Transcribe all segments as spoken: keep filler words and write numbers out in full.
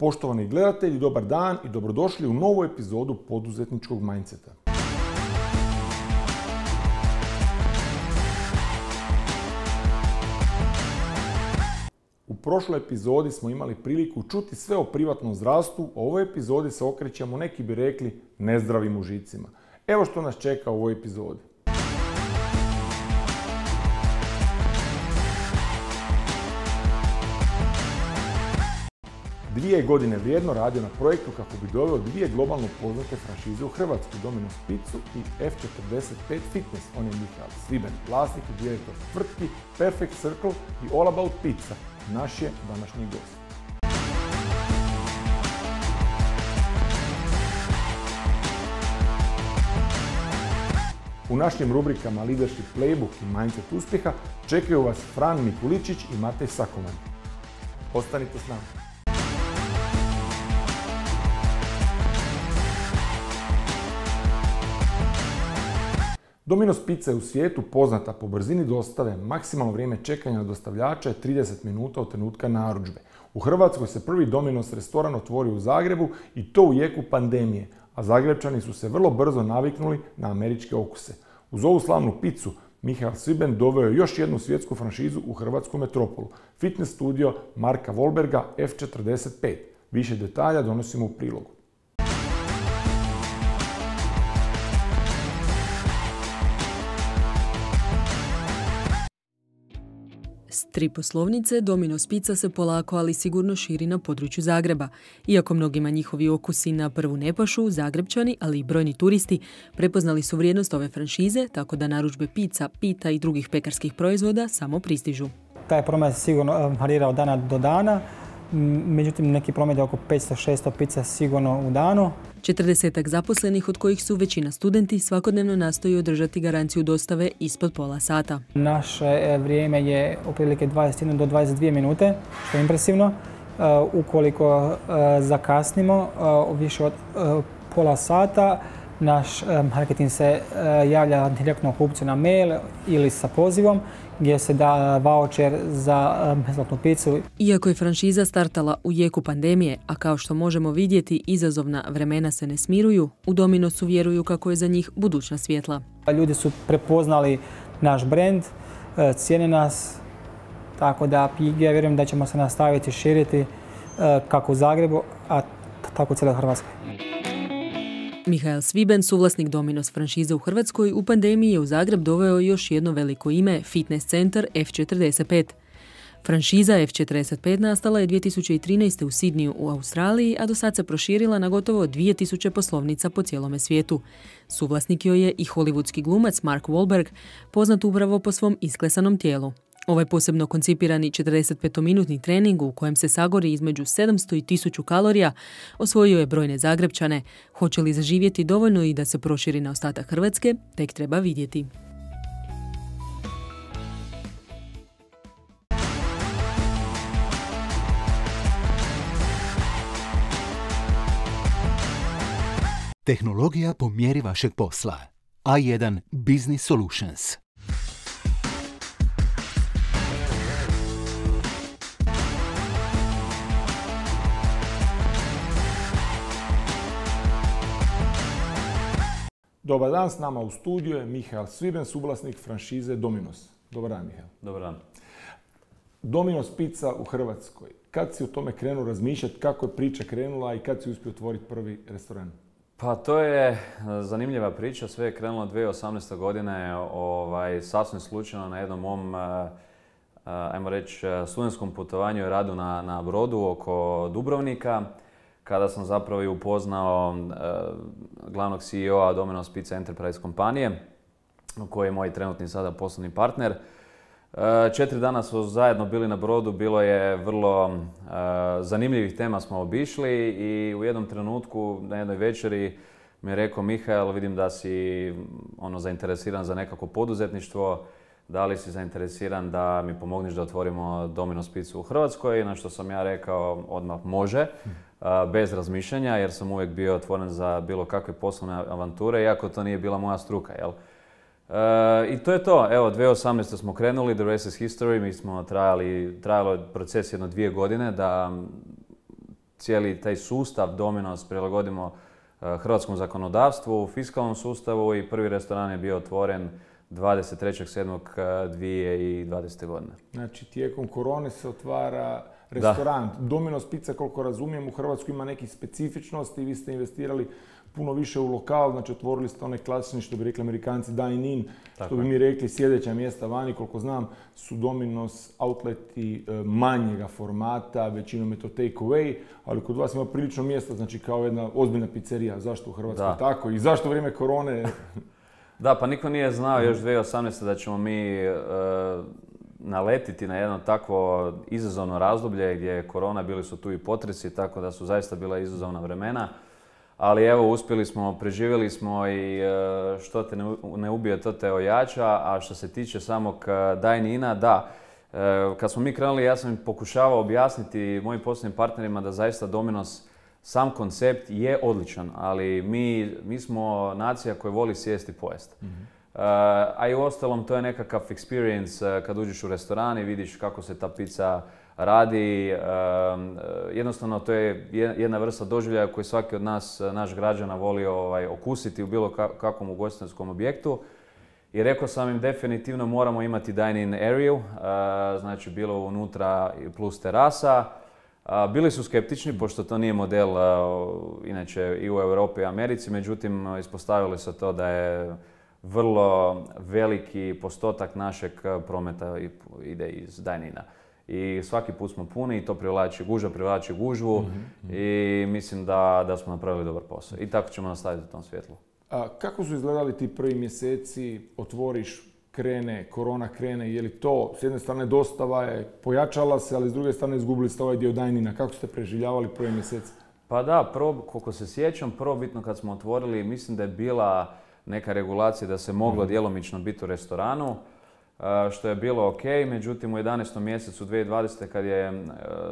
Poštovani gledatelji, dobar dan i dobrodošli u novu epizodu poduzetničkog mindseta. U prošloj epizodi smo imali priliku čuti sve o privatnom zdravstvu, a u ovoj epizodi se okrećemo, neki bi rekli, nezdravim užicima. Evo što nas čeka u ovoj epizodi. Dvije godine vrijedno radio na projektu kako bi doveo dvije globalno poznate franšize u Hrvatsku, Domino's Pizzu i F četrdeset pet Fitness. On je Mihael Sviben, vlasnik i direktor tvrtki Perfect Circle i All About Pizza. Naš je današnji gost. U našim rubrikama Leadership Playbook i Mindset uspjeha čekaju vas Fran Mikuličić i Matej Sakoman. Ostanite s nama. Domino's Pizza je u svijetu poznata po brzini dostave, maksimalno vrijeme čekanja na dostavljača je trideset minuta od trenutka narudžbe. U Hrvatskoj se prvi Domino's restoran otvorio u Zagrebu i to u jeku pandemije, a Zagrebčani su se vrlo brzo naviknuli na američke okuse. Uz ovu slavnu picu, Mihael Sviben doveo je još jednu svjetsku franšizu u hrvatsku metropolu, fitness studio Marka Wahlberga F četrdeset pet. Više detalja donosimo u prilogu. S tri poslovnice Domino's Pizza se polako, ali sigurno širi na području Zagreba. Iako mnogima njihovi okusi na prvu ne pašu, Zagrebčani, ali i brojni turisti, prepoznali su vrijednost ove franšize, tako da narudžbe pizza, pita i drugih pekarskih proizvoda samo pristižu. Taj promet se sigurno varira od dana do dana, međutim neki promet je oko petsto do šesto pizza sigurno u danu. Četrdesetak zaposlenih, od kojih su većina studenti, svakodnevno nastoji održati garanciju dostave ispod pola sata. Naše vrijeme je otprilike dvadeset jedna do dvadeset dvije minute, što je impresivno. Ukoliko zakasnimo više od pola sata, naš marketing se javlja direktno kupcu na mail ili sa pozivom gdje se da voucher za besplatnu picu. Iako je franšiza startala u jeku pandemije, a kao što možemo vidjeti, izazovna vremena se ne smiruju, u Domino'su vjeruju kako je za njih budućnost svjetla. Ljudi su prepoznali naš brand, cijene nas, tako da ja vjerujem da ćemo se nastaviti širiti kako u Zagrebu, a tako u cijeloj Hrvatskoj. Mihael Sviben, suvlasnik Domino's franšize u Hrvatskoj, u pandemiji je u Zagreb doveo još jedno veliko ime, fitness centar F četrdeset pet. Franšiza F četrdeset pet nastala je dvije tisuće trinaeste. u Sidniju u Australiji, a do sad se proširila na gotovo dvije tisuće poslovnica po cijelome svijetu. Suvlasnik joj je i hollywoodski glumac Mark Wahlberg, poznat upravo po svom isklesanom tijelu. Ovaj posebno koncipirani četrdesetpetominutni trening u kojem se sagori između sedamsto i tisuću kalorija osvojio je brojne Zagrebčane. Hoće li zaživjeti dovoljno i da se proširi na ostatak Hrvatske, tek treba vidjeti. Tehnologija po mjeri vašeg posla. A jedan Business Solutions. Dobar dan, s nama u studiju je Mihael Sviben, suvlasnik franšize Domino's. Dobar dan, Mihael. Dobar dan. Domino's Pizza u Hrvatskoj. Kad si o tome krenuo razmišljati, kako je priča krenula i kad si uspio otvoriti prvi restoran? Pa to je zanimljiva priča. Sve je krenulo dvije tisuće osamnaeste. godine ovaj, sasvim slučajno na jednom mom, ajmo reći, studentskom putovanju i radu na, na brodu oko Dubrovnika, kada sam zapravo i upoznao uh, glavnog C E O-a Domino's Pizza Enterprise kompanije, koji je moj trenutni sada poslovni partner. Uh, četiri dana smo zajedno bili na brodu, bilo je vrlo uh, zanimljivih tema smo obišli i u jednom trenutku na jednoj večeri mi je rekao: Mihael, vidim da si ono, zainteresiran za nekako poduzetništvo, da li si zainteresiran da mi pomogneš da otvorimo Domino's Pizzu u Hrvatskoj, na što sam ja rekao odmah može. Bez razmišljanja, jer sam uvijek bio otvoren za bilo kakve poslovne avanture, iako to nije bila moja struka, jel? E, I to je to. Evo, dvije tisuće osamnaeste. smo krenuli, the rest is history. Mi smo trajali, trajalo je proces jedno dvije godine da cijeli taj sustav Domino's prilagodimo hrvatskom zakonodavstvu, fiskalnom sustavu i prvi restoran je bio otvoren dvadeset trećeg sedmog dvije tisuće dvadesete. godine. Znači, tijekom korone se otvara restoran. Da. Domino's Pizza, koliko razumijem, u Hrvatskoj ima nekih specifičnosti i vi ste investirali puno više u lokal, znači otvorili ste one klasični, što bi rekli Amerikanci, dine-in, što bi mi rekli sljedeća mjesta vani, koliko znam, su Domino's outleti manjega formata, većinom je to take away, ali kod vas ima prilično mjesta, znači kao jedna ozbiljna pizzerija. Zašto u Hrvatskoj da. tako i zašto u vrijeme korone? Da, pa niko nije znao još dvije tisuće osamnaeste. da ćemo mi e, naletiti na jedno takvo izazovno razdoblje gdje je korona, bili su tu i potresi, tako da su zaista bila izazovna vremena. Ali evo, uspjeli smo, preživjeli smo i e, što te ne, ne ubije, to te ojača. A što se tiče samog dine-ina, da, e, kad smo mi krenuli, ja sam pokušavao objasniti mojim poslovnim partnerima da zaista Domino's, sam koncept je odličan, ali mi, mi smo nacija koja voli sjesti i pojesti. Mm-hmm. Uh, a i uostalom to je nekakav experience uh, kad uđeš u restoran i vidiš kako se ta pizza radi. Uh, jednostavno to je jedna vrsta doživljaja koju svaki od nas, naš građana, voli ovaj, okusiti u bilo kakvom ugostiteljskom objektu. I rekao sam im definitivno moramo imati dine-in area, uh, znači bilo unutra plus terasa. Uh, bili su skeptični, pošto to nije model uh, inače i u Europi i Americi, međutim ispostavili se to da je vrlo veliki postotak našeg prometa ide iz dine-ina. I svaki put smo puni i to privlači, gužva privlači gužvu mm-hmm. i mislim da, da smo napravili dobar posao. I tako ćemo nastaviti u tom svjetlu. A kako su izgledali ti prvi mjeseci, otvoriš, krene, korona krene, je li to s jedne strane dostava je pojačala se, ali s druge strane izgubili ste ovaj dio dine-ina. Kako ste preživljavali prvi mjeseci? Pa da, prvo, koliko se sjećam, prvobitno kad smo otvorili, mislim da je bila neka regulacija da se moglo mm-hmm. djelomično biti u restoranu, što je bilo ok, međutim u jedanaestom mjesecu dvije tisuće dvadesete. kad je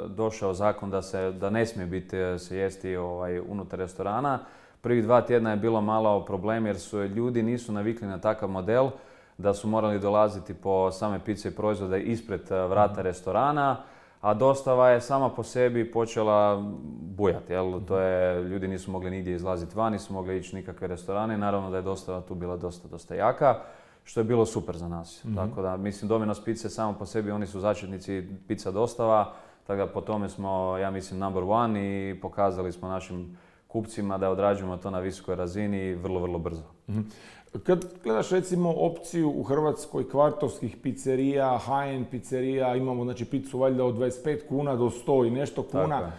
došao zakon da, se, da ne smije biti se jesti ovaj, unutar restorana, prvih dva tjedna je bilo malo problem jer su ljudi nisu navikli na takav model, da su morali dolaziti po same pice i proizvode ispred vrata restorana, a dostava je sama po sebi počela bujati. Jel? To je, ljudi nisu mogli nigdje izlaziti van, nisu mogli ići nikakve restorane. Naravno da je dostava tu bila dosta, dosta jaka, što je bilo super za nas. Mm-hmm. Tako da, mislim, Domino's Pizza samo po sebi, oni su začetnici pizza dostava, tako da po tome smo, ja mislim, number one i pokazali smo našim kupcima da odrađujemo to na visokoj razini vrlo, vrlo brzo. Mm-hmm. Kad gledaš recimo opciju u Hrvatskoj kvartovskih pizzerija, high-end pizzerija, imamo znači picu valjda od dvadeset pet kuna do sto i nešto kuna.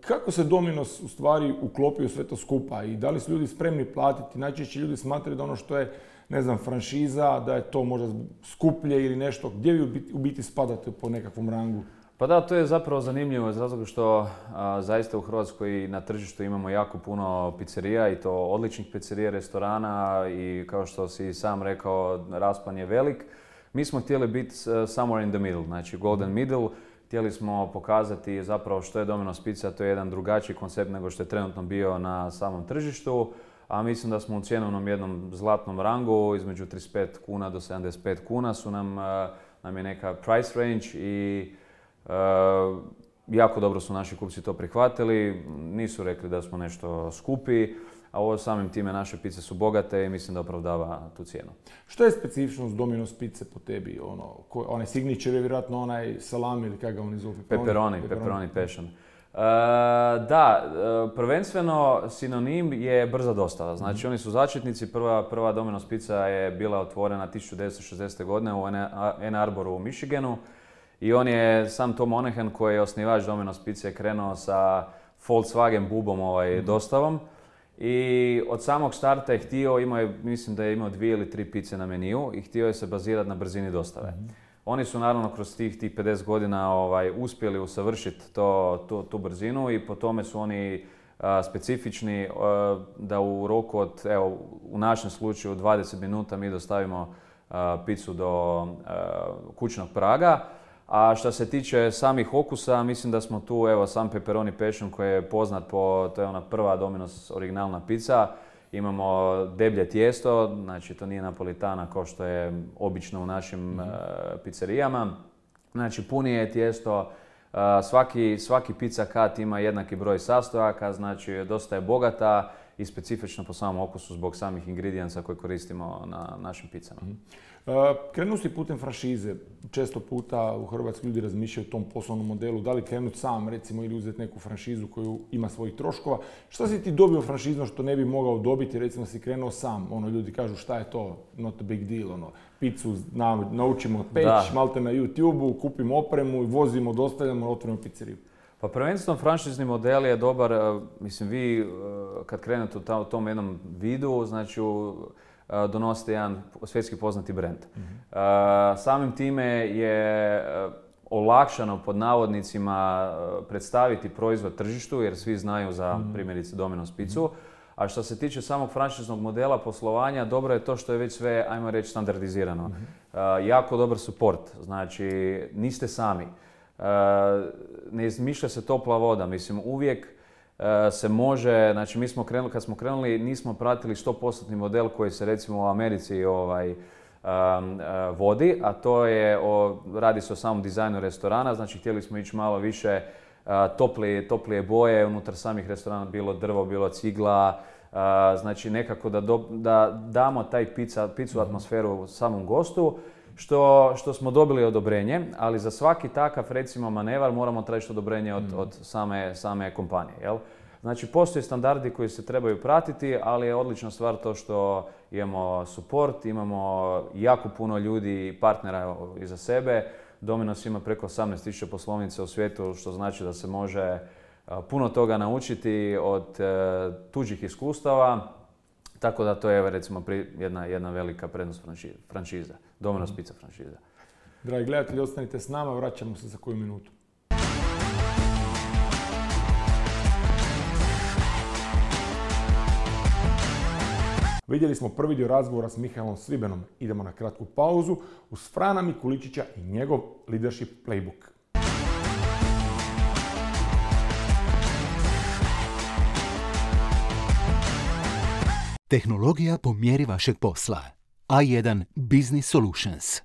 Kako se Domino's u stvari uklopio sve to skupa i da li su ljudi spremni platiti? Najčešće ljudi smatraju da ono što je, ne znam, franšiza, da je to možda skuplje ili nešto. Gdje vi u biti spadate po nekakvom rangu? Pa da, to je zapravo zanimljivo iz razloga što a, zaista u Hrvatskoj na tržištu imamo jako puno pizzerija i to odličnih pizzerija, restorana i kao što si sam rekao, raspon je velik. Mi smo htjeli biti uh, somewhere in the middle, znači golden middle. Htjeli smo pokazati zapravo što je Domino's Pizza, to je jedan drugačiji koncept nego što je trenutno bio na samom tržištu. A mislim da smo u cjenovnom jednom zlatnom rangu, između trideset pet kuna do sedamdeset pet kuna su nam, uh, nam je neka price range i Uh, jako dobro su naši kupci to prihvatili, nisu rekli da smo nešto skupi, a ovo samim time naše pice su bogate i mislim da opravdava tu cijenu. Što je specifičnost Domino's Pizze po tebi? Ono, ko, onaj signature je vjerojatno onaj salami ili kako ga oni zovu? Pepperoni, pepperoni passion. Uh, da, uh, prvenstveno sinonim je brza dostava. Znači mm-hmm. oni su začetnici, prva, prva Domino's Pizza je bila otvorena tisuću devetsto šezdesete. godine u Ann Arboru u Michiganu. I on je, sam Tom Monahan koji je osnivač Domino's Pizza, je krenuo sa Volkswagen bubom ovaj, mm-hmm. dostavom. I od samog starta je htio, imao je, mislim da je imao dvije ili tri pice na meniju i htio je se bazirati na brzini dostave. Mm-hmm. Oni su naravno kroz tih, tih pedeset godina ovaj, uspjeli usavršiti to, tu, tu brzinu i po tome su oni a, specifični a, da u roku od, evo, u našem slučaju dvadeset minuta mi dostavimo a, picu do a, kućnog praga. A što se tiče samih okusa, mislim da smo tu, evo, sam pepperoni passion koji je poznat po, to je ona prva Domino's originalna pizza. Imamo deblje tijesto, znači to nije napolitana kao što je obično u našim mm-hmm. uh, pizzerijama. Znači punije je tijesto, Svaki, svaki pizza cut ima jednaki broj sastojaka, znači dosta je bogata i specifična po samom okusu zbog samih ingredijensa koje koristimo na našim pizzama. Mm. Uh, Krenuo si putem franšize. Često puta u Hrvatskoj ljudi razmišljaju o tom poslovnom modelu. Da li krenuti sam, recimo, ili uzeti neku franšizu koju ima svojih troškova. Šta si ti dobio franšizno što ne bi mogao dobiti, recimo si krenuo sam? Ono, ljudi kažu šta je to, not a big deal. Ono, picu na, naučimo peć, malte na YouTube-u, kupimo opremu i vozimo, dostavljamo, otvorimo pizzeriju. Pa prvenstveno franšizni model je dobar, mislim vi kad krenete u tom jednom vidu, znači donosite jedan svjetski poznati brand. Mm-hmm. Samim time je olakšano pod navodnicima predstaviti proizvod tržištu jer svi znaju za mm-hmm. primjerice Domino's pizzu. A što se tiče samog franšiznog modela poslovanja, dobro je to što je već sve, ajmo reći, standardizirano. Mm-hmm. Jako dobar support, znači niste sami. Ne izmišlja se topla voda, mislim uvijek se može, znači mi smo krenuli, kad smo krenuli nismo pratili sto posto model koji se recimo u Americi ovaj, um, uh, vodi, a to je, o, radi se o samom dizajnu restorana, znači htjeli smo ići malo više uh, toplije, toplije boje, unutar samih restorana bilo drvo, bilo cigla, uh, znači nekako da, do, da damo taj pizza, pizzu atmosferu samom gostu, što, što smo dobili odobrenje, ali za svaki takav recimo manevar moramo tražiti odobrenje od, od same, same kompanije. Jel? Znači postoje standardi koji se trebaju pratiti, ali je odlična stvar to što imamo support, imamo jako puno ljudi i partnera iza sebe. Domino's ima preko osamnaest tisuća poslovnica u svijetu, što znači da se može puno toga naučiti od tuđih iskustava. Tako da to je recimo jedna, jedna velika prednost franšiza. Domino's Pizza franšiza. Dragi gledatelji, ostanite s nama, vraćamo se za koju minutu. Vidjeli smo prvi dio razgovora s Mihaelom Svibenom. Idemo na kratku pauzu uz Frana Mikuličića i njegov leadership playbook. Tehnologija po mjeri vašeg posla. A jedan Business Solutions.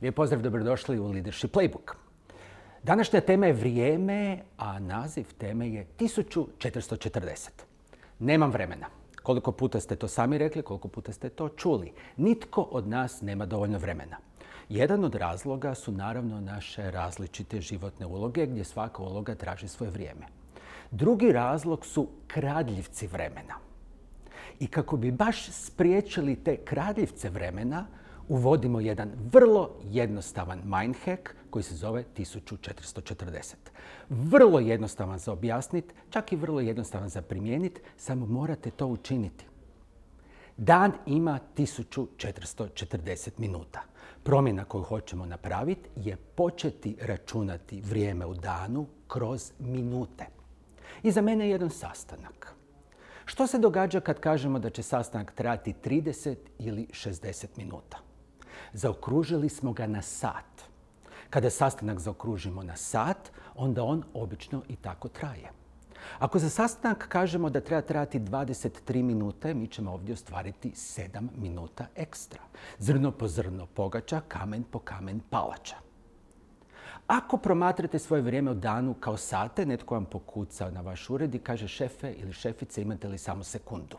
Lijep pozdrav, dobrodošli u Leadership Playbook. Današnja tema je vrijeme, a naziv teme je tisuću četiristo četrdeset. Nemam vremena. Koliko puta ste to sami rekli, koliko puta ste to čuli. Nitko od nas nema dovoljno vremena. Jedan od razloga su naravno naše različite životne uloge gdje svaka uloga traži svoje vrijeme. Drugi razlog su kradljivci vremena. I kako bi baš spriječili te kradljivce vremena, uvodimo jedan vrlo jednostavan mind hack koji se zove tisuću četiristo četrdeset. Vrlo jednostavan za objasniti, čak i vrlo jednostavan za primijeniti, samo morate to učiniti. Dan ima tisuću četiristo četrdeset minuta. Promjena koju hoćemo napraviti je početi računati vrijeme u danu kroz minute. I za mene je jedan sastanak. Što se događa kad kažemo da će sastanak trajati trideset ili šezdeset minuta? Zaokružili smo ga na sat. Kada sastanak zaokružimo na sat, onda on obično i tako traje. Ako za sastanak kažemo da treba trajati dvadeset tri minute, mi ćemo ovdje ostvariti sedam minuta ekstra. Zrno po zrno pogača, kamen po kamen palača. Ako promatrate svoje vrijeme u danu kao sate, netko vam pokuca na vaš ured i kaže šefe ili šefice, imate li samo sekundu?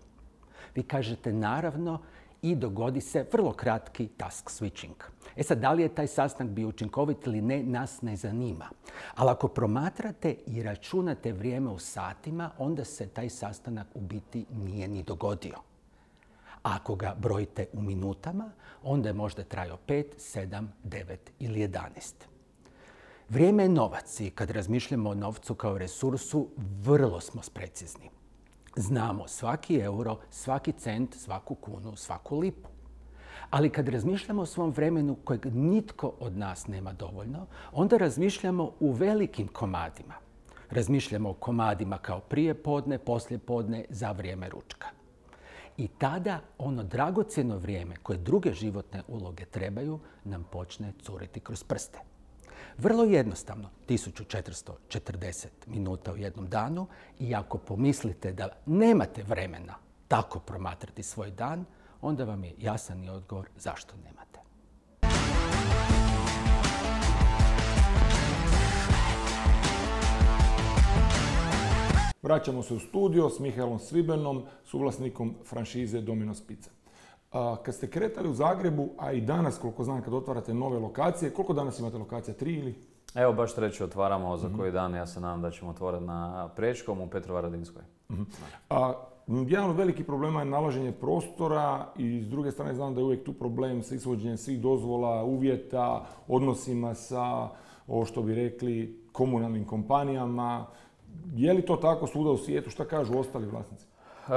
Vi kažete naravno i dogodi se vrlo kratki task switching. E sad, da li je taj sastanak bio učinkovit ili ne, nas ne zanima. Ali ako promatrate i računate vrijeme u satima, onda se taj sastanak u biti nije ni dogodio. Ako ga brojite u minutama, onda je možda trajao pet, sedam, devet ili jedanaest. Vrijeme je novac i kad razmišljamo o novcu kao resursu, vrlo smo precizni. Znamo svaki euro, svaki cent, svaku kunu, svaku lipu. Ali kad razmišljamo o svom vremenu kojeg nitko od nas nema dovoljno, onda razmišljamo u velikim komadima. Razmišljamo o komadima kao prije podne, poslije podne, za vrijeme ručka. I tada ono dragocjeno vrijeme koje druge životne uloge trebaju nam počne curiti kroz prste. Vrlo jednostavno, tisuću četiristo četrdeset minuta u jednom danu i ako pomislite da nemate vremena tako promatrati svoj dan, onda vam je jasan i odgovor zašto nemate. Vraćamo se u studio s Mihaelom Svibenom, suvlasnikom franšize Domino's Pizza. A, kad ste kretali u Zagrebu, a i danas, koliko znam, kad otvarate nove lokacije, koliko danas imate lokacija? Tri ili? Evo, baš treći otvaramo za koji dan. Ja se nadam da ćemo otvoriti na Prečkom u Petrovaradinskoj. Uh-huh. A, jedan od velikih problema je nalaženje prostora i s druge strane znam da je uvijek tu problem sa ishođenjem svih dozvola, uvjeta, odnosima sa, ovo što bi rekli, komunalnim kompanijama. Je li to tako svuda u svijetu? Šta kažu ostali vlasnici? E,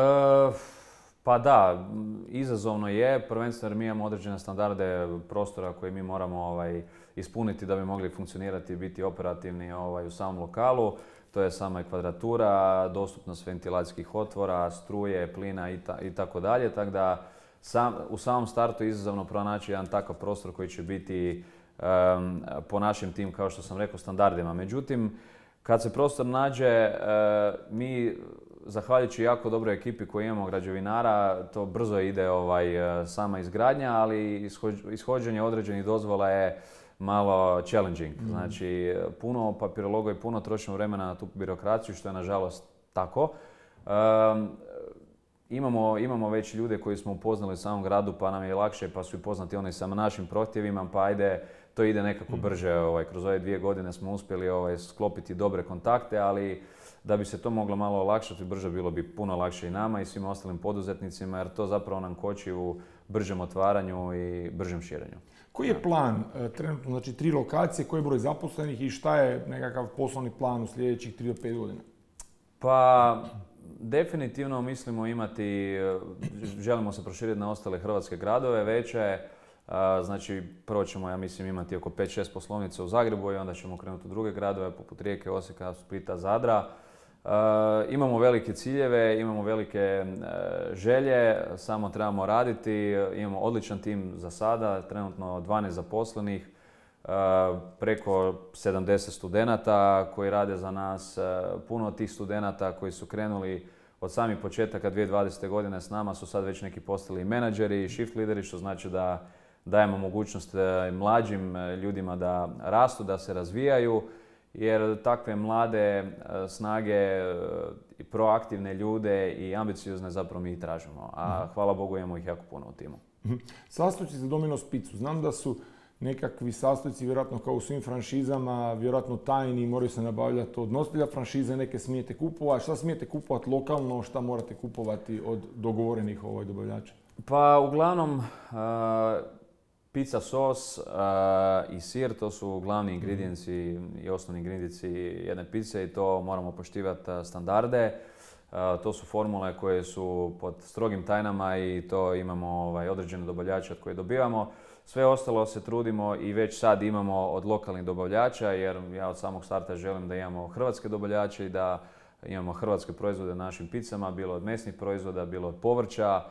pa da, izazovno je, prvenstveno jer mi imamo određene standarde prostora koje mi moramo ovaj, ispuniti da bi mogli funkcionirati i biti operativni ovaj, u samom lokalu. To je sama i kvadratura, dostupnost ventilacijskih otvora, struje, plina i, ta, i tako dalje. Tako da sam, u samom startu je izazovno pronaći jedan takav prostor koji će biti um, po našim tim, kao što sam rekao, standardima. Međutim, kad se prostor nađe, mi, zahvaljujući jako dobroj ekipi koju imamo građevinara, to brzo ide ovaj, sama izgradnja, ali ishođenje određenih dozvola je malo challenging. Mm. Znači, puno papirologa i puno trošimo vremena na tu birokraciju, što je nažalost tako. Um, imamo, imamo već ljude koji smo upoznali u samom gradu, pa nam je lakše, pa su i poznati oni sa našim prohtjevima, pa ajde, to ide nekako brže. Ovaj, kroz ove dvije godine smo uspjeli ovaj, sklopiti dobre kontakte, ali da bi se to moglo malo olakšati brže, bilo bi puno lakše i nama i svim ostalim poduzetnicima, jer to zapravo nam koči u bržem otvaranju i bržem širenju. Koji je plan trenutno, znači tri lokacije, koji je broj zaposlenih i šta je nekakav poslovni plan u sljedećih tri do pet godina? Pa, definitivno mislimo imati, želimo se proširiti na ostale hrvatske gradove veće. Znači, prvo ćemo, ja mislim, imati oko pet šest poslovnica u Zagrebu i onda ćemo krenuti u druge gradove, poput Rijeke, Osijeka, Splita, Zadra. Uh, imamo velike ciljeve, imamo velike uh, želje, samo trebamo raditi. Imamo odličan tim za sada, trenutno dvanaest zaposlenih, uh, preko sedamdeset studenata koji rade za nas. Uh, puno od tih studenata koji su krenuli od samih početaka dvije tisuće dvadesete. godine s nama su sad već neki postali menadžeri i shift lideri, što znači da dajemo mogućnost mlađim ljudima da rastu, da se razvijaju, jer takve mlade snage, proaktivne ljude i ambiciozne zapravo mi i tražimo. A hvala Bogu imamo ih jako puno u timu. Sastojci za Domino's Pizzu. Znam da su nekakvi sastojci, vjerojatno kao u svim franšizama, vjerojatno tajni, moraju se nabavljati od nositelja franšize, neke smijete kupovati. Šta smijete kupovati lokalno, šta morate kupovati od dogovorenih ovaj dobavljača? Pa uglavnom, uh, pizza sos uh, i sir, to su glavni ingredijenci i osnovni ingredijenci jedne pice i to moramo poštivati standarde. Uh, to su formule koje su pod strogim tajnama i to imamo ovaj, određene dobavljače od koje dobivamo. Sve ostalo se trudimo i već sad imamo od lokalnih dobavljača, jer ja od samog starta želim da imamo hrvatske dobavljače i da imamo hrvatske proizvode na našim pizzama, bilo od mesnih proizvoda, bilo od povrća,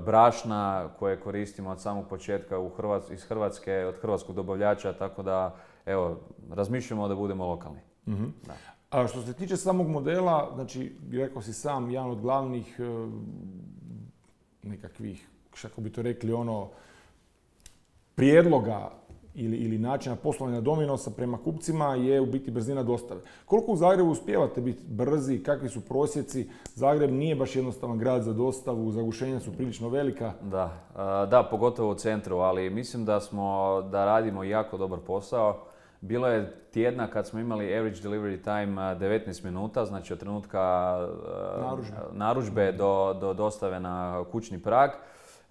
brašna koje koristimo od samog početka u Hrvats- iz Hrvatske, od hrvatskog dobavljača, tako da evo, razmišljamo da budemo lokalni. Mm-hmm. Da. A što se tiče samog modela, znači, rekao si sam, jedan od glavnih nekakvih, kako bi to rekli, ono, prijedloga ili, ili načina poslovanja Dominosa prema kupcima je u biti brzina dostave. Koliko u Zagrebu uspijevate biti brzi, kakvi su prosjeci? Zagreb nije baš jednostavan grad za dostavu, zagušenja su prilično velika. Da, da, pogotovo u centru, ali mislim da smo, da radimo jako dobar posao. Bilo je tjedna kad smo imali average delivery time devetnaest minuta, znači od trenutka narudžbe, narudžbe do, do dostave na kućni prag.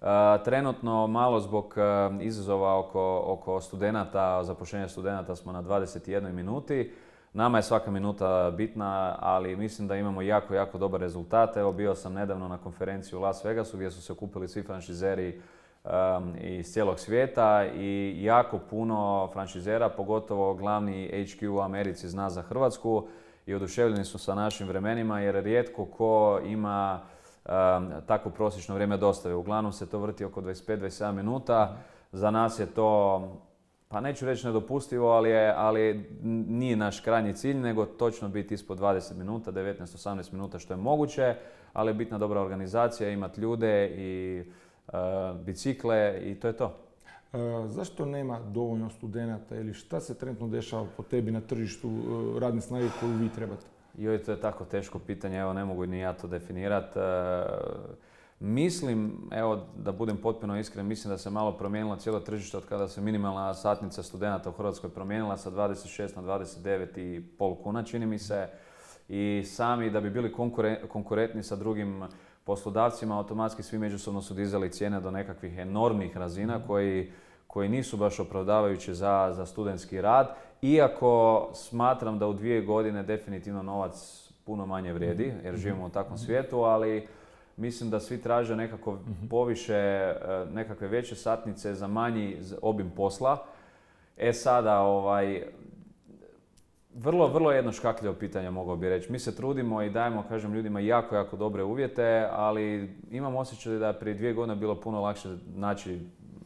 Uh, trenutno malo zbog uh, izazova oko, oko studenata, zapošljenja studenata smo na dvadeset jednoj minuti. Nama je svaka minuta bitna, ali mislim da imamo jako, jako dobar rezultat. Evo, bio sam nedavno na konferenciji u Las Vegasu gdje su se okupili svi franšizeri um, iz cijelog svijeta i jako puno franšizera, pogotovo glavni H Q u Americi zna za Hrvatsku i oduševljeni su sa našim vremenima jer rijetko ko ima Um, tako prosječno vrijeme dostave. Uglavnom se to vrti oko dvadeset pet do dvadeset sedam minuta. Za nas je to pa neću reći nedopustivo, ali, je, ali nije naš krajnji cilj, nego točno biti ispod dvadeset minuta, devetnaest do osamnaest minuta što je moguće, ali je bitna dobra organizacija, imati ljude i uh, bicikle i to je to. Uh, zašto nema dovoljno studenata ili šta se trenutno dešava po tebi na tržištu uh, radne snage koju vi trebate? Joj, to je tako teško pitanje, evo ne mogu ni ja to definirati. Uh, Mislim, evo da budem potpuno iskren, mislim da se malo promijenilo cijelo tržište od kada se minimalna satnica studenata u Hrvatskoj promijenila sa dvadeset šest na dvadeset devet i pol kuna, čini mi se. I sami da bi bili konkurentni sa drugim poslodavcima, automatski svi međusobno su dizali cijene do nekakvih enormnih razina koji, koji nisu baš opravdavajući za, za studentski rad. Iako smatram da u dvije godine definitivno novac puno manje vrijedi, jer živimo u takvom svijetu, ali mislim da svi traže nekako poviše, nekakve veće satnice za manji obim posla. E sada, ovaj, vrlo, vrlo jedno škakljivo pitanje mogao bi reći. Mi se trudimo i dajemo, kažem, ljudima jako, jako dobre uvjete, ali imam osjećaj da je prije dvije godine bilo puno lakše naći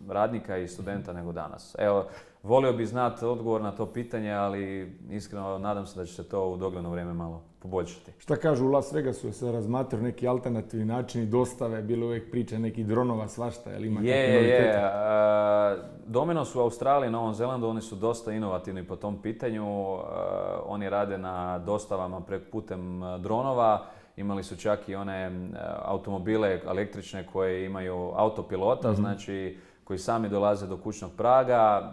radnika i studenta nego danas. Evo, volio bih znati odgovor na to pitanje, ali iskreno nadam se da će se to u dogledno vrijeme malo poboljšati. Šta kažu u Las Vegasu, se razmatraju neki alternativni načini dostave, bilo uvijek priče nekih dronova, svašta, jel ima je, kakve novitete? Je, je. Dominos u Australiji, Novom Zelandu, oni su dosta inovativni po tom pitanju. Uh, oni rade na dostavama prek putem dronova. Imali su čak i one uh, automobile električne koje imaju autopilota, mm-hmm. znači koji sami dolaze do kućnog praga,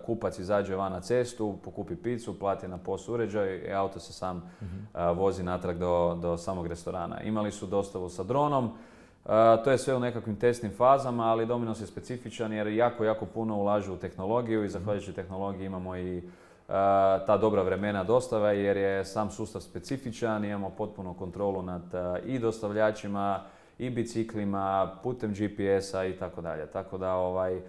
kupac izađe van na cestu, pokupi picu, plati na P O S uređaj i auto se sam mm-hmm. vozi natrag do, do samog restorana. Imali su dostavu sa dronom, to je sve u nekakvim testnim fazama, ali Dominos je specifičan jer jako, jako puno ulažu u tehnologiju i zahvaljujući tehnologiji imamo i ta dobra vremena dostave jer je sam sustav specifičan, imamo potpunu kontrolu nad i dostavljačima, i biciklima, putem G P S-a i tako dalje. Tako da ovaj,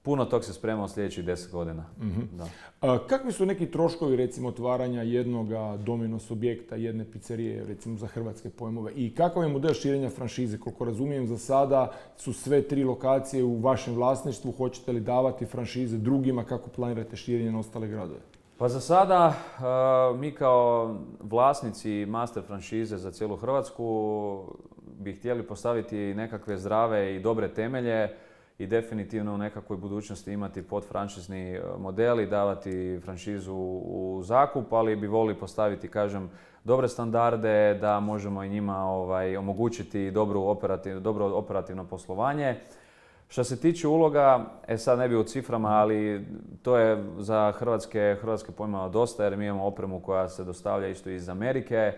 puno tog se sprema u sljedećih deset godina. Mm-hmm. Da. A, kakvi su neki troškovi recimo otvaranja jednog Dominos objekta, jedne pizzerije recimo za hrvatske pojmove i kakav je model širenja franšize? Koliko razumijem za sada su sve tri lokacije u vašem vlasništvu, hoćete li davati franšize drugima, kako planirate širenje na ostale gradove? Pa za sada uh, mi kao vlasnici master franšize za cijelu Hrvatsku bi htjeli postaviti nekakve zdrave i dobre temelje i definitivno u nekakvoj budućnosti imati podfranšizni model i davati franšizu u zakup, ali bi volili postaviti, kažem, dobre standarde da možemo i njima ovaj, omogućiti dobru operativ, dobro operativno poslovanje. Što se tiče uloga, e sad ne bi u ciframa, ali to je za hrvatske, hrvatske pojmova dosta jer mi imamo opremu koja se dostavlja isto iz Amerike,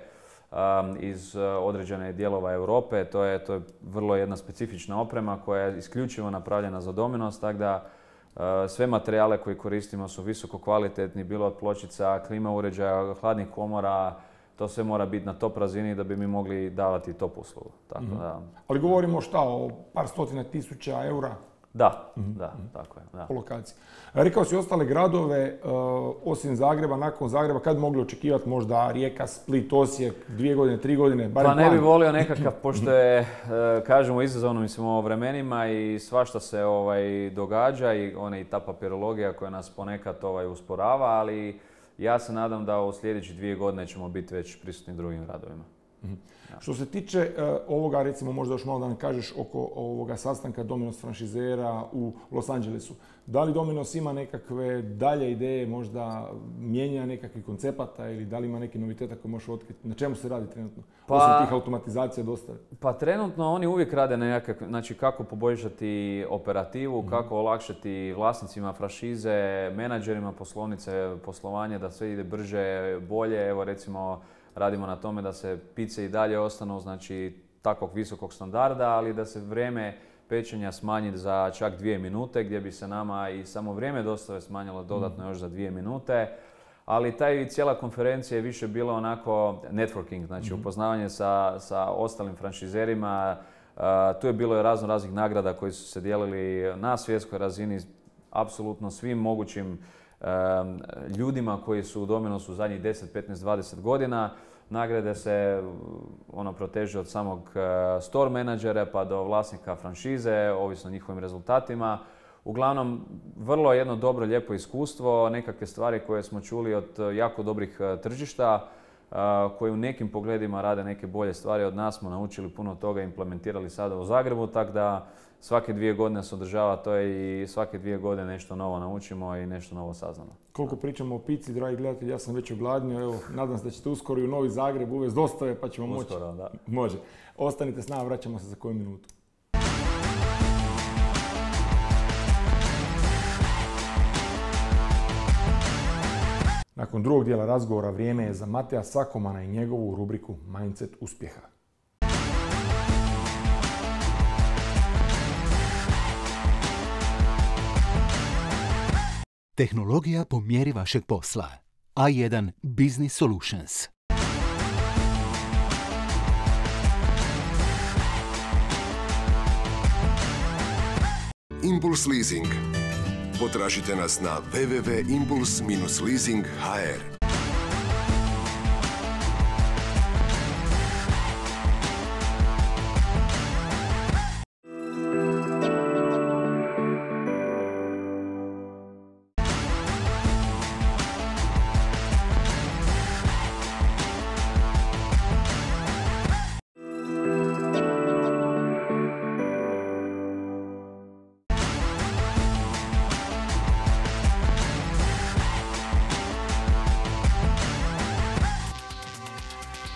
um, iz određene dijelova Europe. To je, to je vrlo jedna specifična oprema koja je isključivo napravljena za Dominos, tako da uh, sve materijale koje koristimo su visoko kvalitetni, bilo od pločica, klima uređaja, hladnih komora. To sve mora biti na top razini da bi mi mogli davati top uslugu. Tako mm-hmm. da... Ali govorimo šta, o par stotina tisuća eura? Da, mm-hmm. da, tako je. Da. Po lokaciji. Rekao si ostale gradove, uh, osim Zagreba, nakon Zagreba, kad mogli očekivati možda Rijeka, Split, Osijek, dvije godine, tri godine? Pa ne bi volio nekakav, pošto je, uh, kažemo, izazovno mislim o vremenima i svašta se ovaj, događa i ona i ta papirologija koja nas ponekad ovaj, usporava, ali ja se nadam da u sljedećih dvije godine ćemo biti već prisutni drugim gradovima. Mm-hmm. Ja. Što se tiče uh, ovoga, recimo možda još malo da nam kažeš oko ovoga sastanka Dominos franšizera u Los Angelesu. Da li Dominos ima nekakve dalje ideje, možda mijenja nekakvih koncepata ili da li ima neki noviteta koji možeš otkriti? Na čemu se radi trenutno? Pa, osim tih automatizacija dostave. Pa trenutno oni uvijek rade na nekakve, znači kako poboljšati operativu, mm-hmm. kako olakšati vlasnicima franšize, menadžerima poslovnice, poslovanje da sve ide brže, bolje. Evo recimo radimo na tome da se pice i dalje ostanu, znači takvog visokog standarda, ali da se vrijeme pečenja smanji za čak dvije minute, gdje bi se nama i samo vrijeme dostave smanjilo dodatno još za dvije minute. Ali taj cijela konferencija je više bila onako networking, znači mm-hmm. upoznavanje sa, sa ostalim franšizerima. Uh, tu je bilo i razno raznih nagrada koji su se dijelili na svjetskoj razini, apsolutno svim mogućim um, ljudima koji su u Dominosu zadnjih deset, petnaest, dvadeset godina. Nagrade se ono proteže od samog uh, store menadžera pa do vlasnika franšize, ovisno o njihovim rezultatima. Uglavnom, vrlo jedno dobro, lijepo iskustvo, nekakve stvari koje smo čuli od jako dobrih tržišta, koji u nekim pogledima rade neke bolje stvari od nas, smo naučili puno toga i implementirali sada u Zagrebu, tako da svake dvije godine se održava to i svake dvije godine nešto novo naučimo i nešto novo saznamo. Koliko pričamo o pici, dragi gledatelji, ja sam već ogladnio, evo, nadam se da ćete uskoro i u Novi Zagreb uvesti dostave pa ćemo moći. Uskoro, da. Može. Ostanite s nama, vraćamo se za koju minutu. Nakon drugog dijela razgovora vrijeme je za Mateja Sakomana i njegovu rubriku Mindset uspjeha. Tehnologija po mjeri vašeg posla. A jedan Business Solutions. Impuls Leasing. Potražite nas na w w w tačka impuls dash leasing tačka h r.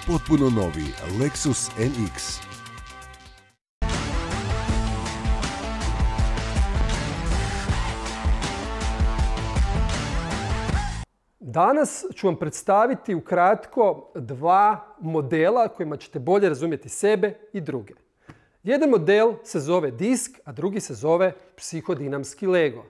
Potpuno novi Lexus N X. Danas ću vam predstaviti ukratko dva modela kojima ćete bolje razumjeti sebe i druge. Jedan model se zove disk, a drugi se zove psihodinamski Lego.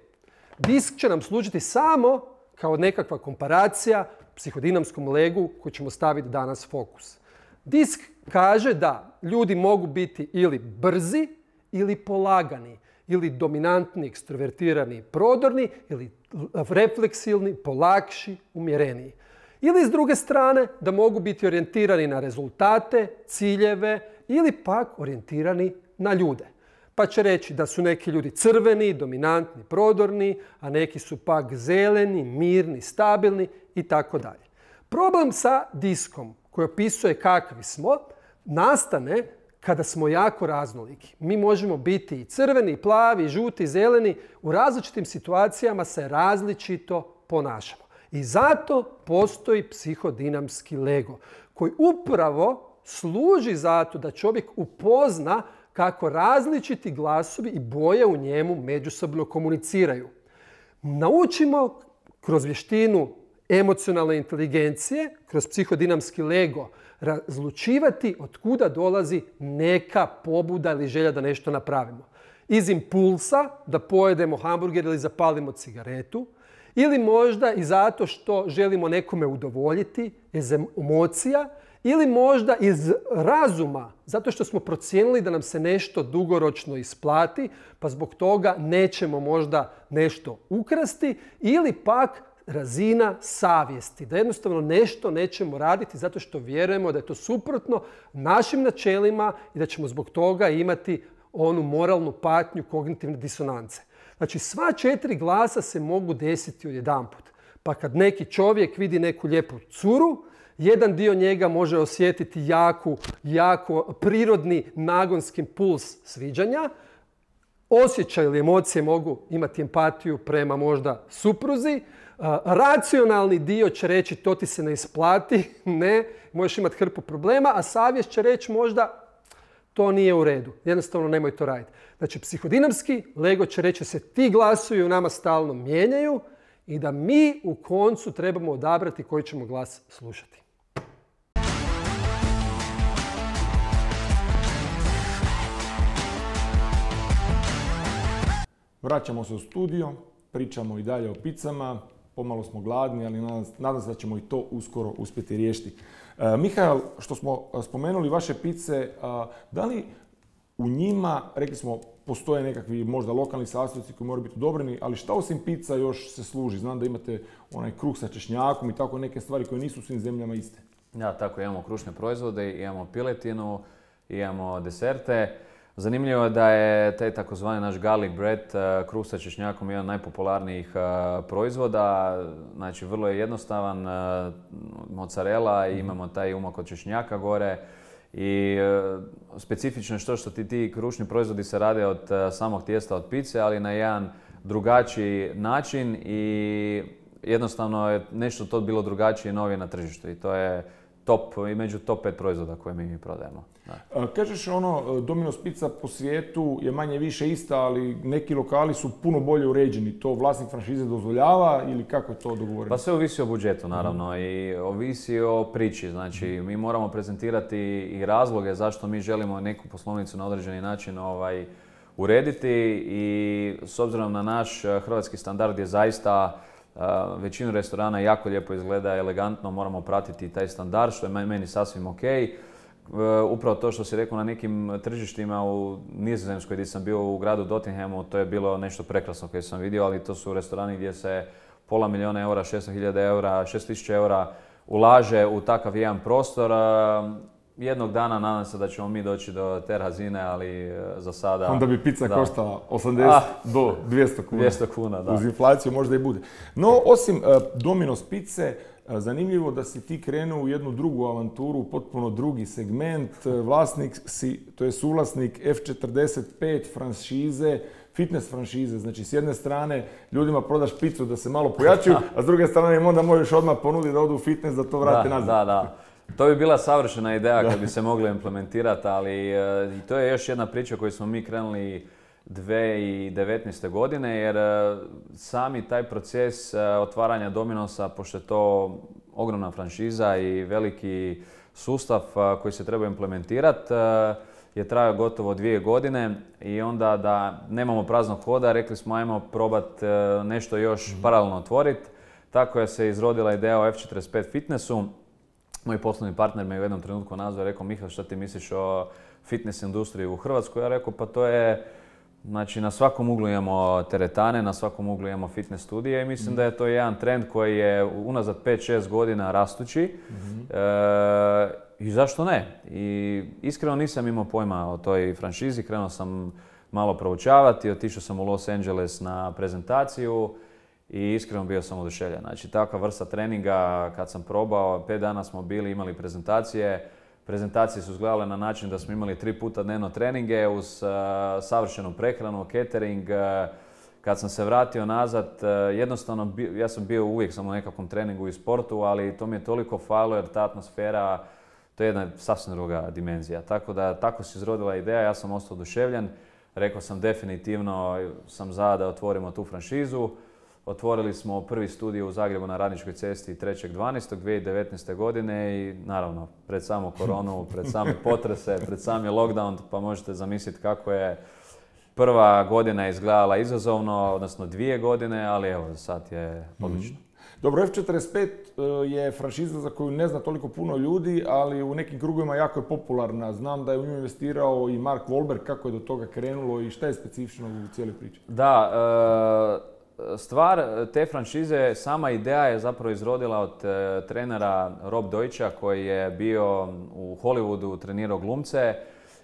Disk će nam služiti samo kao nekakva komparacija psihodinamskom legu koji ćemo staviti danas fokus. Disk kaže da ljudi mogu biti ili brzi ili polagani, ili dominantni, ekstrovertirani, prodorni, ili refleksilni, polakši, umjereniji. Ili s druge strane da mogu biti orijentirani na rezultate, ciljeve ili pak orijentirani na ljude. Pa će reći da su neki ljudi crveni, dominantni, prodorni, a neki su pak zeleni, mirni, stabilni i tako dalje. Problem sa diskom koji opisuje kakvi smo nastane kada smo jako raznoliki. Mi možemo biti i crveni, i plavi, i žuti, i zeleni. U različitim situacijama se različito ponašamo. I zato postoji psihodinamski Lego koji upravo služi zato da čovjek upozna kako različiti glasovi i boje u njemu međusobno komuniciraju. Naučimo kroz vještinu emocionalne inteligencije, kroz psihodinamski Lego, razlučivati od kuda dolazi neka pobuda ili želja da nešto napravimo. Iz impulsa da pojedemo hamburger ili zapalimo cigaretu, ili možda i zato što želimo nekome udovoljiti, iz emocija, ili možda iz razuma, zato što smo procijenili da nam se nešto dugoročno isplati, pa zbog toga nećemo možda nešto ukrasti, ili pak razina savjesti, da jednostavno nešto nećemo raditi zato što vjerujemo da je to suprotno našim načelima i da ćemo zbog toga imati onu moralnu patnju kognitivne disonance. Znači, sva četiri glasa se mogu desiti odjedanput. Pa kad neki čovjek vidi neku lijepu curu, jedan dio njega može osjetiti jaku, jako prirodni nagonski puls sviđanja. Osjećaj ili emocije mogu imati empatiju prema možda supruzi. Racionalni dio će reći to ti se ne isplati, ne, možeš imati hrpu problema, a savjest će reći možda to nije u redu, jednostavno nemoj to raditi. Znači, psihodinamski Lego će reći da se ti glasovi u nama stalno mijenjaju i da mi u koncu trebamo odabrati koji ćemo glas slušati. Vraćamo se u studio, pričamo i dalje o picama, pomalo smo gladni, ali nadam se da ćemo i to uskoro uspjeti riješiti. E, Mihael, što smo spomenuli vaše pice, a, da li u njima, rekli smo, postoje nekakvi možda lokalni sastojci koji moraju biti odobreni, ali šta osim pizza još se služi? Znam da imate onaj kruh sa češnjakom i tako neke stvari koje nisu u svim zemljama iste. Da, tako imamo krušne proizvode, imamo piletinu, imamo deserte. Zanimljivo je da je taj takozvani naš garlic bread, kruh sa češnjakom, jedan od najpopularnijih proizvoda. Znači, vrlo je jednostavan, mozzarella i imamo taj umak od češnjaka gore. I specifično je što što ti, ti krušni proizvodi se rade od samog tijesta od pice, ali na jedan drugačiji način i jednostavno je nešto to bilo drugačije i novije na tržištu i to je top, i među top pet proizvoda koje mi prodajemo. Da. Kažeš ono, Domino's pizza po svijetu je manje više ista, ali neki lokali su puno bolje uređeni. To vlasnik franšize dozvoljava ili kako je to dogovoreno? Pa sve ovisi o budžetu naravno mm. i ovisi o priči. Znači mi moramo prezentirati i razloge zašto mi želimo neku poslovnicu na određeni način ovaj, urediti i s obzirom na naš hrvatski standard je zaista Uh, većinu restorana jako lijepo izgleda, elegantno, moramo pratiti taj standard, što je meni sasvim ok. Uh, upravo to što si rekao na nekim tržištima u Nizozemskoj gdje sam bio u gradu Nottinghamu, to je bilo nešto prekrasno koje sam vidio, ali to su restorani gdje se pola milijuna eura, šesto hiljada eura, šest tisuća eura ulaže u takav jedan prostor. Uh, Jednog dana nadam se da ćemo mi doći do te razine, ali za sada... Onda bi pizza da. koštala osamdeset ah, do dvjesto kuna. dvjesto kuna, da. Uz inflaciju možda i bude. No, osim uh, Domino's pizze, uh, zanimljivo da si ti krenuo u jednu drugu avanturu, potpuno drugi segment. Uh, vlasnik si, to je suvlasnik F četrdeset pet franšize, fitness franšize. Znači, s jedne strane ljudima prodaš pizzu da se malo pojačaju, a s druge strane im onda možeš odmah ponuditi da odu u fitness, da to vrate da, nazad. Da, da. To bi bila savršena ideja kad bi se mogla implementirati, ali uh, to je još jedna priča koju smo mi krenuli dvije tisuće devetnaeste. godine, jer uh, sami taj proces uh, otvaranja Dominosa, pošto je to ogromna franšiza i veliki sustav uh, koji se treba implementirati, uh, je trajao gotovo dvije godine i onda da nemamo praznog hoda, rekli smo ajmo probati uh, nešto još mm-hmm. paralelno otvoriti. Tako je se izrodila ideja o F četrdeset pet fitnessu. Moj poslovni partner me u jednom trenutku nazvao i rekao, Mihael, šta ti misliš o fitness industriji u Hrvatskoj? Ja rekao, pa to je, znači na svakom uglu imamo teretane, na svakom uglu imamo fitness studije i mislim mm. da je to jedan trend koji je unazad pet šest godina rastući. Mm-hmm. E, I zašto ne? I iskreno nisam imao pojma o toj franšizi, krenuo sam malo proučavati, otišao sam u Los Angeles na prezentaciju. I iskreno bio sam oduševljen. Znači, takva vrsta treninga kad sam probao, pet dana smo bili, imali prezentacije. Prezentacije su izgledale na način da smo imali tri puta dnevno treninge uz uh, savršenu prehranu, catering. Uh, kad sam se vratio nazad, uh, jednostavno, bi, ja sam bio uvijek sam u nekakvom treningu i sportu, ali to mi je toliko falilo jer ta atmosfera, to je jedna sasvim druga dimenzija. Tako da, tako se izrodila ideja, ja sam ostao oduševljen. Rekao sam definitivno sam za da otvorimo tu franšizu. Otvorili smo prvi studio u Zagrebu na Radničkoj cesti trećeg dvanaestog dvije tisuće devetnaeste. godine i naravno pred samu koronu, pred same potrese, pred sami lockdown, pa možete zamisliti kako je prva godina izgledala izazovno, odnosno dvije godine, ali evo sad je odlično. Dobro, F četrdeset pet je franšiza za koju ne zna toliko puno ljudi, ali u nekim krugovima jako je popularna. Znam da je u nju investirao i Mark Wahlberg, kako je do toga krenulo i šta je specifično u cijeloj priči? Da, e- stvar te franšize, sama ideja je zapravo izrodila od e, trenera Rob Deutscha koji je bio u Hollywoodu, trenirao glumce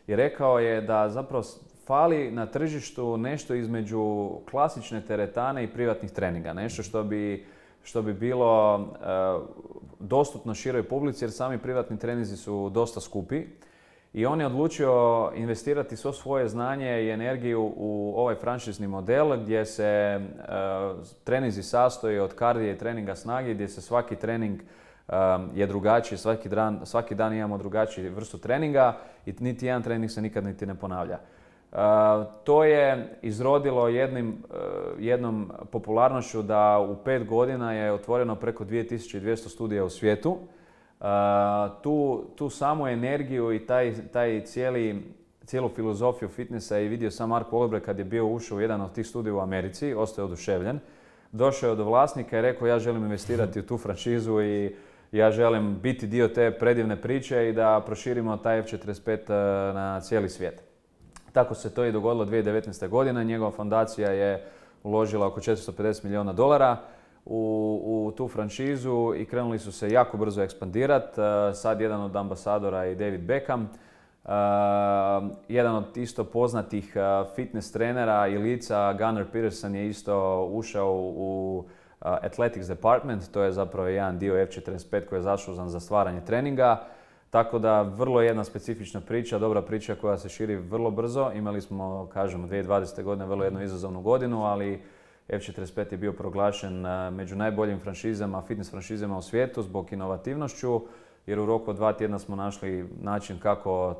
i rekao je da zapravo fali na tržištu nešto između klasične teretane i privatnih treninga. Nešto što bi, što bi bilo e, dostupno široj publici jer sami privatni treninzi su dosta skupi. I on je odlučio investirati svo svoje znanje i energiju u ovaj franšizni model gdje se uh, treninzi sastoji od kardija i treninga snage, gdje se svaki trening um, je drugačiji, svaki dan, svaki dan imamo drugačiju vrstu treninga i niti jedan trening se nikad niti ne ponavlja. Uh, to je izrodilo jednim, uh, jednom popularnošću da u pet godina je otvoreno preko dvije tisuće dvjesto studija u svijetu. Uh, tu, tu samu energiju i taj, taj cijeli, cijelu filozofiju fitnessa je vidio sam Mark Wahlberg kad je bio ušao u jedan od tih studija u Americi, ostao je oduševljen. Došao je do vlasnika i rekao ja želim investirati u tu franšizu i ja želim biti dio te predivne priče i da proširimo taj F četrdeset pet na cijeli svijet. Tako se to i dogodilo dvije tisuće devetnaeste. godine. Njegova fondacija je uložila oko četiristo pedeset milijuna dolara u, u tu franšizu i krenuli su se jako brzo ekspandirati. Sad jedan od ambasadora je David Beckham Uh, jedan od isto poznatih uh, fitness trenera i lica, Gunnar Peterson, je isto ušao u uh, Athletics Department, to je zapravo jedan dio F četrdeset pet koji je zaslužan za stvaranje treninga. Tako da vrlo jedna specifična priča, dobra priča koja se širi vrlo brzo. Imali smo, kažemo, dvije tisuće dvadesete. godine vrlo jednu izazovnu godinu, ali F četrdeset pet je bio proglašen uh, među najboljim franšizama, fitness franšizama u svijetu zbog inovativnošću, jer u roku od dva tjedna smo našli način kako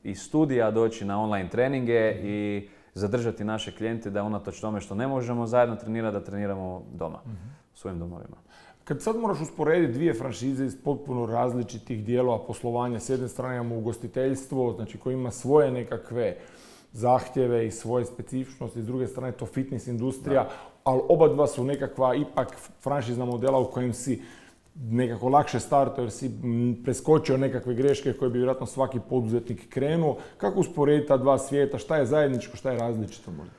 iz studija doći na online treninge i zadržati naše klijente da unatoč tome što ne možemo zajedno trenirati, da treniramo doma, mm-hmm. u svojim domovima. Kad sad moraš usporediti dvije franšize iz potpuno različitih dijelova poslovanja, s jedne strane imamo ugostiteljstvo, znači koji ima svoje nekakve zahtjeve i svoje specifičnosti, s druge strane to fitness industrija, da. Ali oba dva su nekakva ipak franšizna modela u kojem si nekako lakše startao jer si preskočio nekakve greške koje bi vjerojatno svaki poduzetnik krenuo. Kako usporediti ta dva svijeta? Šta je zajedničko, šta je različito možda?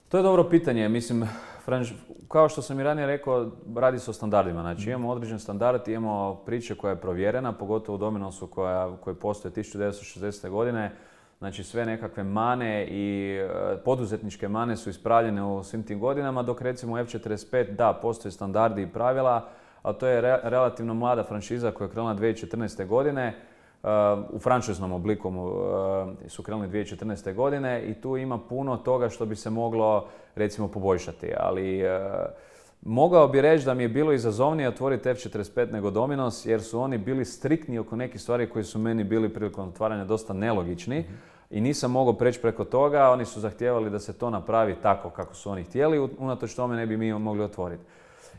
To je dobro pitanje. Mislim, franš... kao što sam i ranije rekao, radi se o standardima. Znači, imamo određen standard, imamo priče koja je provjerena, pogotovo u Dominosu koja, koji postoje tisuću devetsto šezdesete. godine. Znači, sve nekakve mane i uh, poduzetničke mane su ispravljene u svim tim godinama, dok recimo u F četrdeset pet, da, postoje standardi i pravila, ali to je re- relativno mlada franšiza koja je krenula dvije tisuće četrnaeste. godine. Uh, u franšiznom obliku uh, su krenuli dvije tisuće četrnaeste. godine i tu ima puno toga što bi se moglo, recimo, poboljšati. Ali uh, mogao bi reći da mi je bilo izazovnije otvoriti F četrdeset pet nego Dominos, jer su oni bili striktni oko nekih stvari koji su meni bili prilikom otvaranja dosta nelogični. Mm-hmm. I nisam mogao preći preko toga, oni su zahtijevali da se to napravi tako kako su oni htjeli, unatoč tome ne bi mi mogli otvoriti.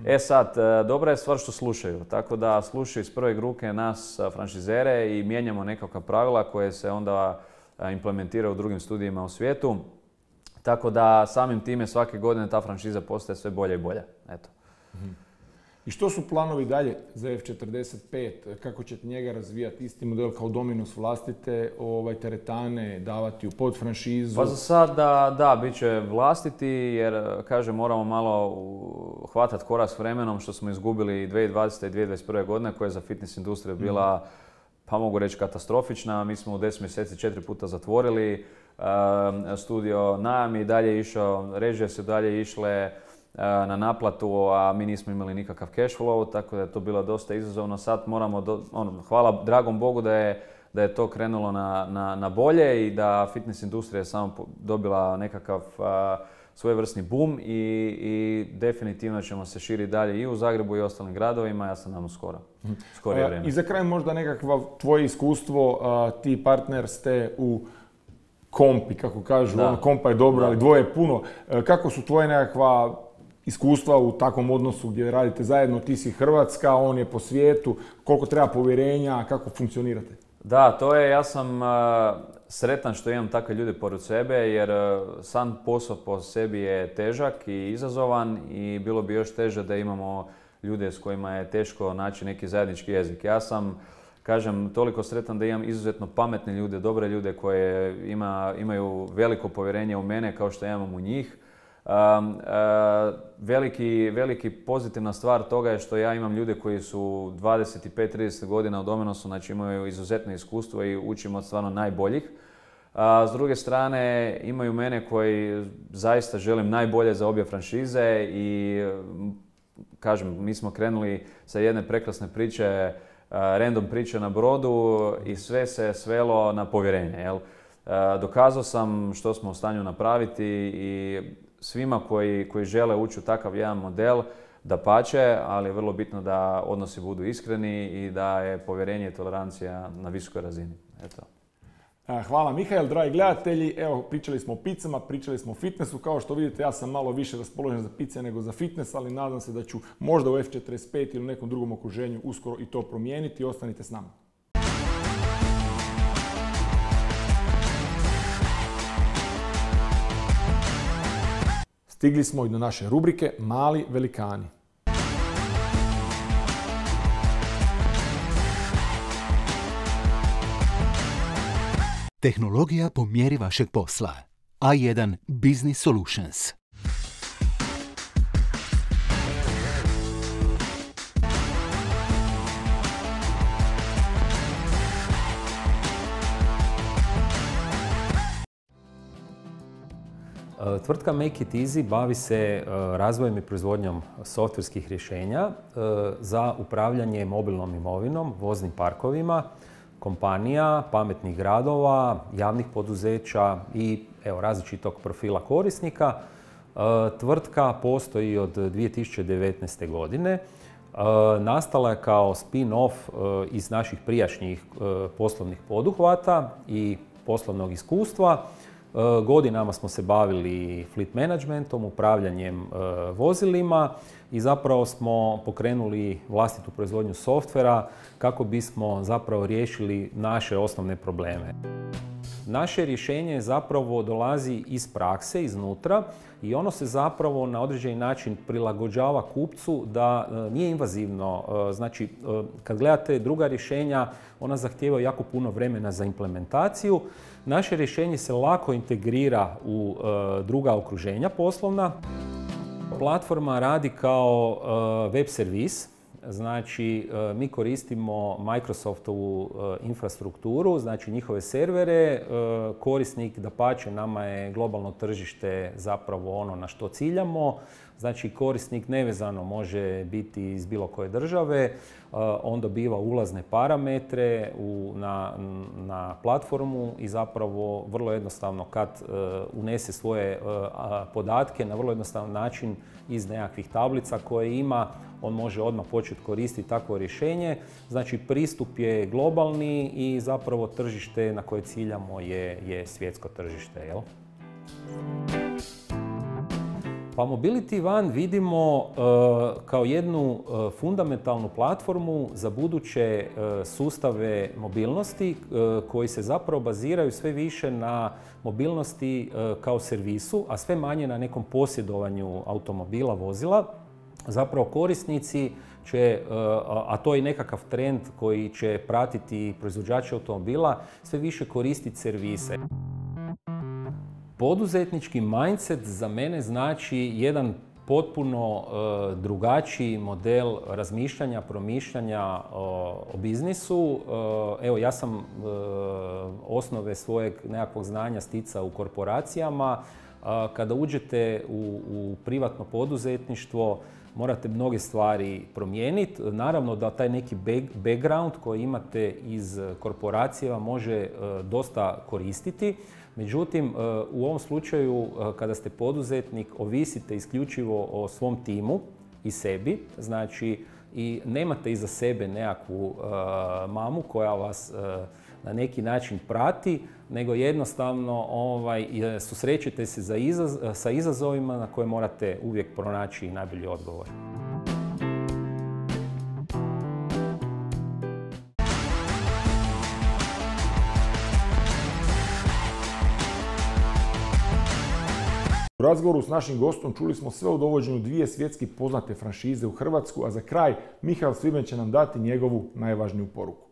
E sad, dobra je stvar što slušaju, tako da slušaju iz prve ruke nas franšizere i mijenjamo nekakva pravila koje se onda implementiraju u drugim studijima u svijetu. Tako da samim time svake godine ta franšiza postaje sve bolja i bolja. Eto. I što su planovi dalje za F četrdeset pet? Kako ćete njega razvijati? Isti model kao Dominos, vlastite ovaj, teretane, davati u podfranšizu? Pa za sad da, da, bit će vlastiti jer, kažem, moramo malo hvatati korak s vremenom što smo izgubili dvije tisuće dvadesete. i dvije tisuće dvadeset prve. godine koja je za fitness industriju bila, pa mogu reći, katastrofična. Mi smo u deset mjeseci četiri puta zatvorili uh, studio, najam je i dalje išao, režije su dalje išle na naplatu, a mi nismo imali nikakav cash flow, tako da je to bilo dosta izazovno. Sad moramo, do, ono, hvala dragom Bogu da je, da je to krenulo na, na, na bolje i da fitness industrija je samo dobila nekakav uh, svojevrsni boom i, i definitivno ćemo se širiti dalje i u Zagrebu i ostalim gradovima, ja sam nam skoro. Skorije uh, vrijeme. I za kraj možda nekakvo tvoje iskustvo, uh, ti partner ste u kompi, kako kažu, ono, kompa je dobro, da. Ali dvoje je puno. Uh, kako su tvoje nekakva iskustva u takvom odnosu gdje radite zajedno, ti si Hrvatska, on je po svijetu, koliko treba povjerenja, kako funkcionirate? Da, to je, ja sam uh, sretan što imam takve ljude pored sebe jer uh, sam posao po sebi je težak i izazovan i bilo bi još teže da imamo ljude s kojima je teško naći neki zajednički jezik. Ja sam, kažem, toliko sretan da imam izuzetno pametne ljude, dobre ljude koje ima, imaju veliko povjerenje u mene kao što ja imam u njih. Um, uh, veliki, veliki pozitivna stvar toga je što ja imam ljude koji su dvadeset pet do trideset godina u Dominosu, znači imaju izuzetno iskustvo i učim od stvarno najboljih. Uh, s druge strane imaju mene koji zaista želim najbolje za obje franšize i kažem, mi smo krenuli sa jedne prekrasne priče, uh, random priče na brodu i sve se svelo na povjerenje. Jel? Uh, dokazao sam što smo u stanju napraviti i svima koji, koji žele ući u takav jedan model dapače, ali je vrlo bitno da odnosi budu iskreni i da je povjerenje i tolerancija na visokoj razini. Eto. Hvala Mihael, dragi gledatelji. Evo, pričali smo o pizzama, pričali smo o fitnessu. Kao što vidite, ja sam malo više raspoložen za pice nego za fitness, ali nadam se da ću možda u F četrdeset pet ili u nekom drugom okruženju uskoro i to promijeniti. Ostanite s nama. Stigli smo i do naše rubrike Mali velikani. Tehnologija po mjeri vašeg posla. A jedan Business Solutions. Tvrtka Make It Easy bavi se razvojem i proizvodnjom softverskih rješenja za upravljanje mobilnom imovinom, voznim parkovima, kompanija, pametnih gradova, javnih poduzeća i evo, različitog profila korisnika. Tvrtka postoji od dvije tisuće devetnaeste. godine. Nastala je kao spin-off iz naših prijašnjih poslovnih poduhvata i poslovnog iskustva. Godinama smo se bavili fleet managementom, upravljanjem vozilima i zapravo smo pokrenuli vlastitu proizvodnju softvera kako bismo zapravo riješili naše osnovne probleme. Naše rješenje zapravo dolazi iz prakse, iznutra i ono se zapravo na određeni način prilagođava kupcu da nije invazivno. Znači, kad gledate druga rješenja, ona zahtijeva jako puno vremena za implementaciju. Naše rješenje se lako integrira u druga okruženja poslovna. Platforma radi kao web servis. Znači, mi koristimo Microsoftovu infrastrukturu, znači njihove servere. Korisnik, dapače, nama je globalno tržište zapravo ono na što ciljamo. Znači, korisnik nevezano može biti iz bilo koje države. On dobiva ulazne parametre u, na, na platformu i zapravo vrlo jednostavno kad unese svoje podatke na vrlo jednostavan način iz nekakvih tablica koje ima, on može odmah početi koristiti takvo rješenje. Znači, pristup je globalni i zapravo tržište na koje ciljamo je, je svjetsko tržište. Jel? Pa Mobility One vidimo uh, kao jednu uh, fundamentalnu platformu za buduće uh, sustave mobilnosti uh, koji se zapravo baziraju sve više na mobilnosti uh, kao servisu, a sve manje na nekom posjedovanju automobila, vozila. Zapravo korisnici će, uh, a to je nekakav trend koji će pratiti proizvođači automobila, sve više koristiti servise. Poduzetnički mindset za mene znači jedan potpuno uh, drugačiji model razmišljanja, promišljanja uh, o biznisu. Uh, evo, ja sam uh, osnove svojeg nekakvog znanja sticao u korporacijama. Uh, kada uđete u, u privatno poduzetništvo, morate mnoge stvari promijeniti. Naravno da taj neki background koji imate iz korporacija može uh, dosta koristiti. Međutim, u ovom slučaju, kada ste poduzetnik, ovisite isključivo o svom timu i sebi, znači i nemate iza sebe nekakvu uh, mamu koja vas uh, na neki način prati, nego jednostavno ovaj, susrećete se za izaz, sa izazovima na koje morate uvijek pronaći najbolji odgovor. U razgovoru s našim gostom čuli smo sve o dovođenju dvije svjetski poznate franšize u Hrvatsku, a za kraj Mihael Sviben će nam dati njegovu najvažniju poruku.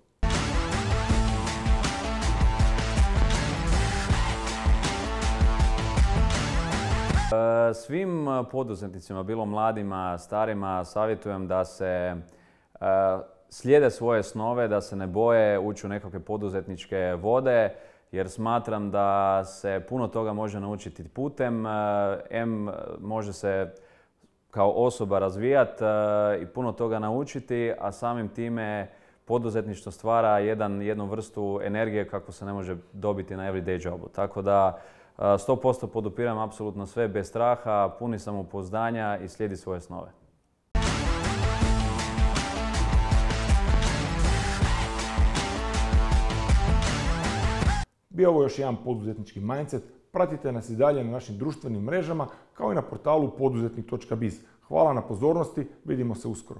Svim poduzetnicima, bilo mladima, starima, savjetujem da se slijede svoje snove, da se ne boje ući u nekakve poduzetničke vode, jer smatram da se puno toga može naučiti putem. M može se kao osoba razvijati i puno toga naučiti, a samim time poduzetništvo stvara jedan, jednu vrstu energije kako se ne može dobiti na everyday jobu. Tako da sto posto podupiram apsolutno sve bez straha, puni samopouzdanja i slijedi svoje snove. Bio ovo još jedan poduzetnički mindset. Pratite nas i dalje na našim društvenim mrežama kao i na portalu poduzetnik točka biz. Hvala na pozornosti, vidimo se uskoro.